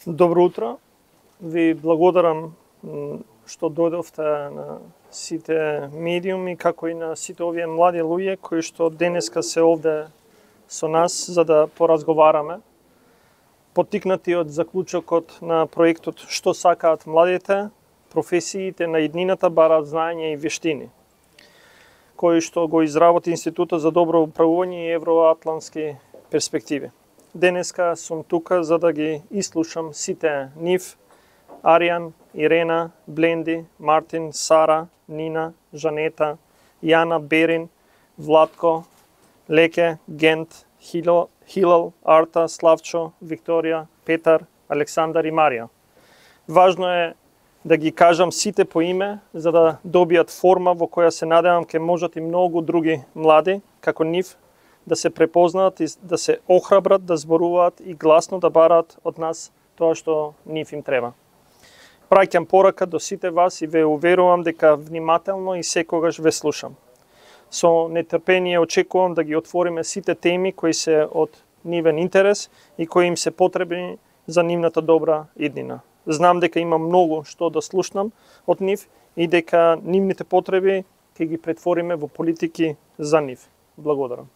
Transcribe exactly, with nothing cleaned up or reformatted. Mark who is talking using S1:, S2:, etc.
S1: Добро утро. Ви благодарам што дојдовте на сите медиуми, како и на сите овие млади луѓе кои што денеска се овде со нас за да поразговараме. Поттикнати од заклучокот на проектот Што сакаат младите, професиите на иднината бараат знаење и вештини, кој што го изработи Институтот за добро управување и евроатлантски перспективи. Денеска сум тука за да ги ислушам сите нив, Аријан, Ирена, Бленди, Мартин, Сара, Нина, Жанета, Јана, Берин, Владко, Леке, Гент, Хилал, Хилал, Арта, Славчо, Викторија, Петар, Александар и Марија. Важно е да ги кажам сите по име, за да добијат форма во која се надевам ке можат и многу други млади, како нив, да се препознаат и да се охрабрат, да зборуваат и гласно да бараат од нас тоа што нив им треба. Праќам порака до сите вас и ве уверувам дека внимателно и секогаш ве слушам. Со нетрпение очекувам да ги отвориме сите теми кои се од нивен интерес и кои им се потребни за нивната добра иднина. Знам дека има многу што да слушнам од нив и дека нивните потреби ќе ги претвориме во политики за нив. Благодарам.